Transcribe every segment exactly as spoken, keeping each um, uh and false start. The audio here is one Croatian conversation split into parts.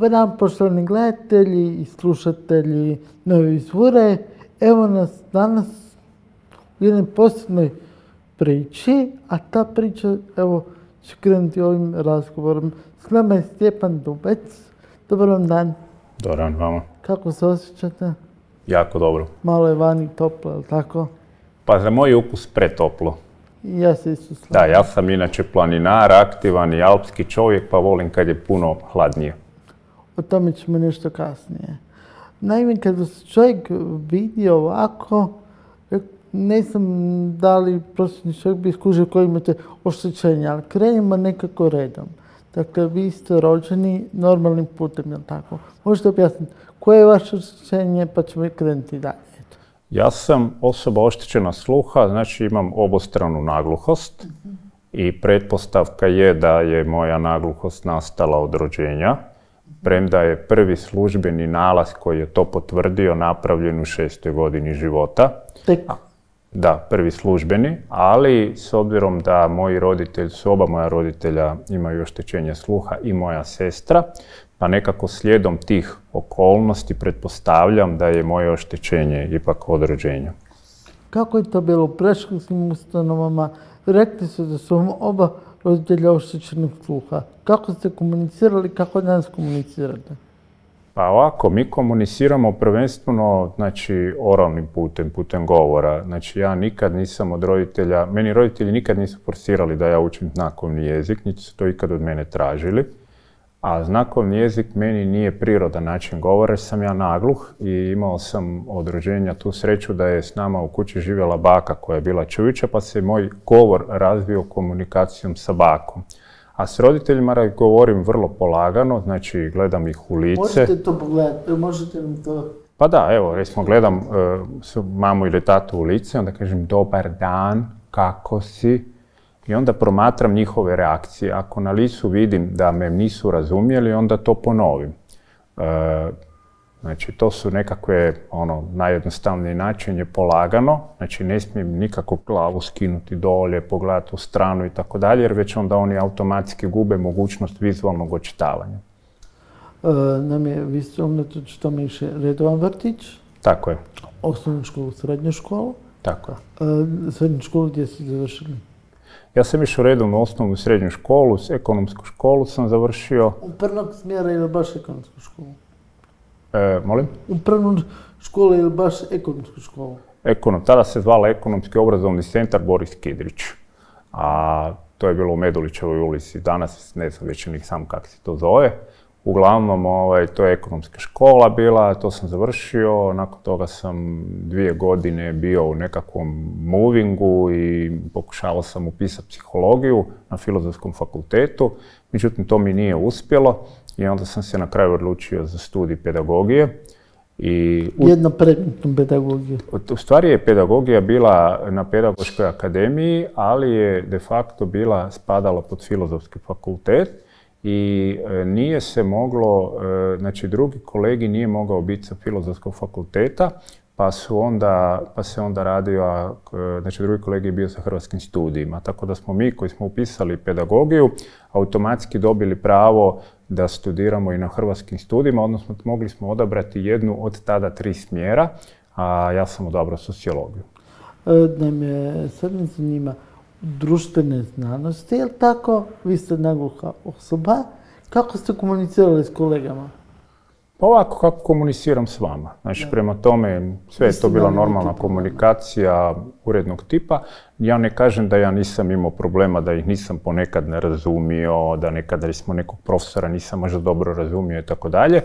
Dobar dan, poštovani gledatelji i slušatelji Nove Vizure. Evo nas danas u jednoj posebnoj priči, a ta priča, evo, će krenuti ovim razgovorom. S nama je Stjepan Dubec. Dobar vam dan. Dobar dan vama. Kako se osjećate? Jako dobro. Malo je vani toplo, je li tako? Pa za moj ukus pretoplo. Ja se isto slažem. Da, ja sam inače planinar, aktivan i alpski čovjek, pa volim kad je puno hladnije. O tome ćemo nešto kasnije. Naime, kada se čovjek vidi ovako, ne znam da li prosječni čovjek bi skužio koji imate oštećenja, ali krenimo nekako redom. Dakle, vi ste rođeni normalnim putem, je li tako? Možete objasniti koje je vaše oštećenje, pa ćemo krenuti dalje. Ja sam osoba oštećena sluha, znači imam obostranu nagluhost i pretpostavka je da je moja nagluhost nastala od rođenja, premda je prvi službeni nalaz koji je to potvrdio napravljen u šestoj godini života. Tek? Da, prvi službeni, ali s obzirom da moji roditelji, su oba moja roditelja imaju oštećenje sluha i moja sestra, pa nekako slijedom tih okolnosti pretpostavljam da je moje oštećenje ipak od rođenja. Kako je to bilo u predškolskim ustanovama? Rekli su da su vam oba roditelja oštećenog sluha. Kako ste komunicirali, kako danas komunicirate? Pa ovako, mi komuniciramo prvenstveno, znači, oralnim putem, putem govora. Znači, ja nikad nisam od roditelja, meni roditelji nikad nisu forsirali da ja učim znakovni jezik, niti su to ikad od mene tražili. A znakovni jezik meni nije prirodan način govora, jer sam ja nagluh i imao sam od rođenja tu sreću da je s nama u kući živjela baka koja je bila čujuća, pa se moj govor razvio komunikacijom sa bakom. A s roditeljima govorim vrlo polagano, znači gledam ih u lice. Možete to pogledati, možete nam to... Pa da, evo, recimo gledam uh, mamu ili tatu u lice, onda kažem dobar dan, kako si? I onda promatram njihove reakcije. Ako na licu vidim da me nisu razumjeli, onda to ponovim. Uh, znači, to su nekakve, ono, najjednostavniji način je polagano, znači ne smijem nikako glavu skinuti dolje, pogledati u stranu i tako dalje, jer već onda oni automatski gube mogućnost vizualnog očitavanja. E, nam je, vi ste unatoč tome išli redovan vrtić? Tako je. Osnovnu školu, srednju školu? Tako je. E, srednju školu gdje ste završili? Ja sam išao redovno osnovnu i srednju školu, ekonomsku školu sam završio. Upravnog smjera ili baš ekonomsku školu? E, molim? Upravnu školu ili baš ekonomsku školu? Ekonom, tada se zvala Ekonomski obrazovni centar Boris Kidrić. A to je bilo u Medulićevoj ulici. Danas ne znam već ni sam kako se to zove. Uglavnom, ovaj, to je ekonomska škola bila, to sam završio. Nakon toga sam dvije godine bio u nekakvom movingu i pokušavao sam upisati psihologiju na Filozofskom fakultetu. Međutim, to mi nije uspjelo i onda sam se na kraju odlučio za studij pedagogije. I u... Jedno predmetnu pedagogiju. U stvari je pedagogija bila na Pedagoškoj akademiji, ali je de facto bila spadala pod Filozofski fakultet. I nije se moglo, znači drugi kolegi nije mogao biti sa Filozofskog fakulteta, pa, su onda, pa se onda radio, znači drugi kolegi je bio sa hrvatskim studijima. Tako da smo mi koji smo upisali pedagogiju automatski dobili pravo da studiramo i na hrvatskim studijima, odnosno mogli smo odabrati jednu od tada tri smjera, a ja sam odabrao sociologiju. Da me sad me zanima, društvene znanosti, je li tako? Vi ste nagluha osoba. Kako ste komunicirali s kolegama? Pa ovako kako komuniciram s vama. Znači, prema tome, sve je to bila normalna komunikacija urednog tipa. Ja ne kažem da ja nisam imao problema, da ih nisam ponekad ne razumio, da nekad recimo nekog profesora nisam možda dobro razumio i tako dalje,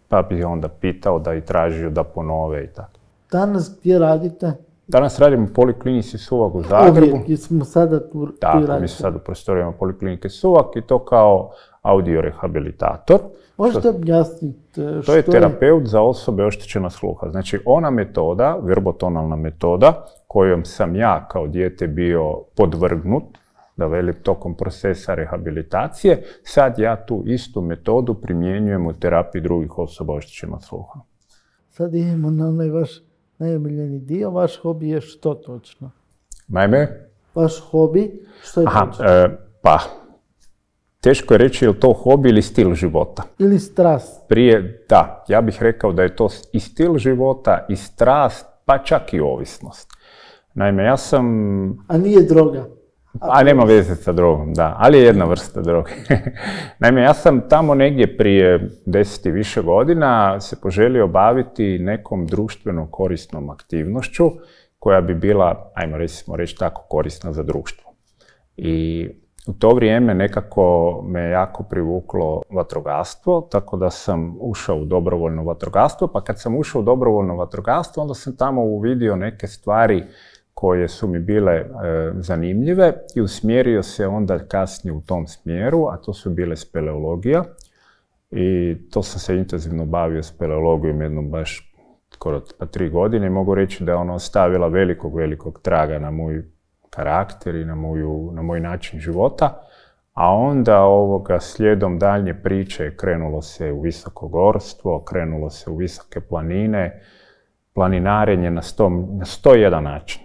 pa bih onda pitao da i tražio da ponove i tako. Danas gdje radite? Danas radim u Poliklinici Suvag u Zagrebu. Uvijek smo sada tu, tu Tako, radite. mi smo sad u prostorijama Poliklinike Suvag i to kao audiorehabilitator. Možete objasniti što je? To je terapeut za osobe oštećena sluha. Znači, ona metoda, verbotonalna metoda, kojom sam ja kao dijete bio podvrgnut, da velim, tokom procesa rehabilitacije, sad ja tu istu metodu primjenjujem u terapiji drugih osoba oštećena sluha. Sad idemo na onaj vaš najomiljeni dio. Vaš hobi je što točno? Naime? Vaš hobi, što je Aha, točno? E, pa, teško je reći je li to hobi ili stil života. Ili strast. Prije, da, ja bih rekao da je to i stil života, i strast, pa čak i ovisnost. Naime, ja sam... A nije droga. A nema veze sa drogom, da, ali je jedna vrsta droge. Naime, ja sam tamo negdje prije deset i više godina se poželio baviti nekom društveno korisnom aktivnošću koja bi bila, ajmo recimo reći tako, korisna za društvo. I u to vrijeme nekako me jako privuklo vatrogastvo, tako da sam ušao u dobrovoljno vatrogastvo, pa kad sam ušao u dobrovoljno vatrogastvo, onda sam tamo uvidio neke stvari koje su mi bile e, zanimljive i usmjerio se onda kasnije u tom smjeru, a to su bile speleologija. I to sam se intenzivno bavio speleologijom jednom baš skoro pa tri godine i mogu reći da je ona ostavila velikog, velikog traga na moj karakter i na, moju, na moj način života. A onda ovoga, slijedom daljnje priče krenulo se u visokogorstvo, krenulo se u visoke planine, planinarenje na sto, na sto jedan način.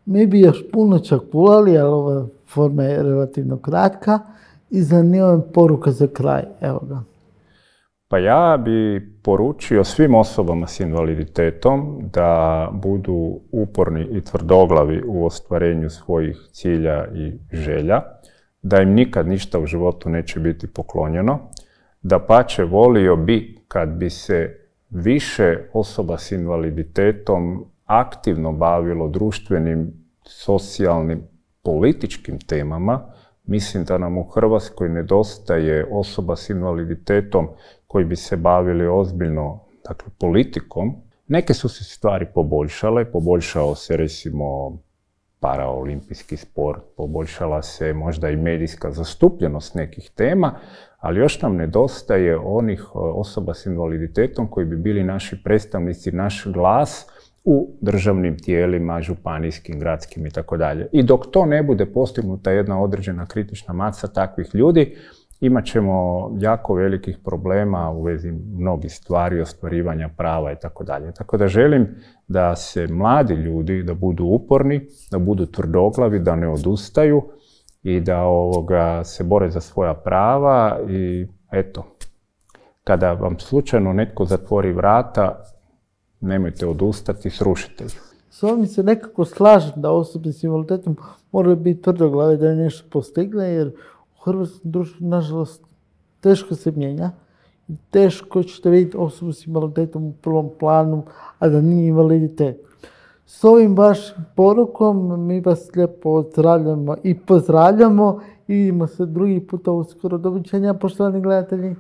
Mi bi još puno čak pulali, ali ova forma je relativno kratka i zanima me poruka za kraj. Evo ga. Pa ja bi poručio svim osobama s invaliditetom da budu uporni i tvrdoglavi u ostvarenju svojih cilja i želja, da im nikad ništa u životu neće biti poklonjeno, dapače volio bi kad bi se više osoba s invaliditetom aktivno bavilo društvenim, socijalnim, političkim temama. Mislim da nam u Hrvatskoj nedostaje osoba s invaliditetom koji bi se bavili ozbiljno, dakle, politikom. Neke su se stvari poboljšale, poboljšao se recimo paraolimpijski sport, poboljšala se možda i medijska zastupljenost nekih tema, ali još nam nedostaje onih osoba s invaliditetom koji bi bili naši predstavnici, naš glas u državnim tijelima, županijskim, gradskim i tako dalje. I dok to ne bude postignuta jedna određena kritična masa takvih ljudi, imat ćemo jako velikih problema u vezi mnogih stvari, ostvarivanja prava i tako dalje. Tako da želim da se mladi ljudi, da budu uporni, da budu tvrdoglavi, da ne odustaju i da ovoga, se bore za svoja prava i eto, kada vam slučajno netko zatvori vrata, nemojte odustati, srušite ih. S ovim se nekako slažem da osobe s invaliditetom moraju biti tvrdoglave da je nešto postigne, jer u hrvatskom društvu, nažalost, teško se mijenja. I teško ćete vidjeti osobu s invaliditetom u prvom planu, a da nije invaliditet. S ovim vašim porukom mi vas lijepo pozdravljamo i pozdravljamo i vidimo se drugi puta uskoro. Doviđenja, poštovani gledatelji.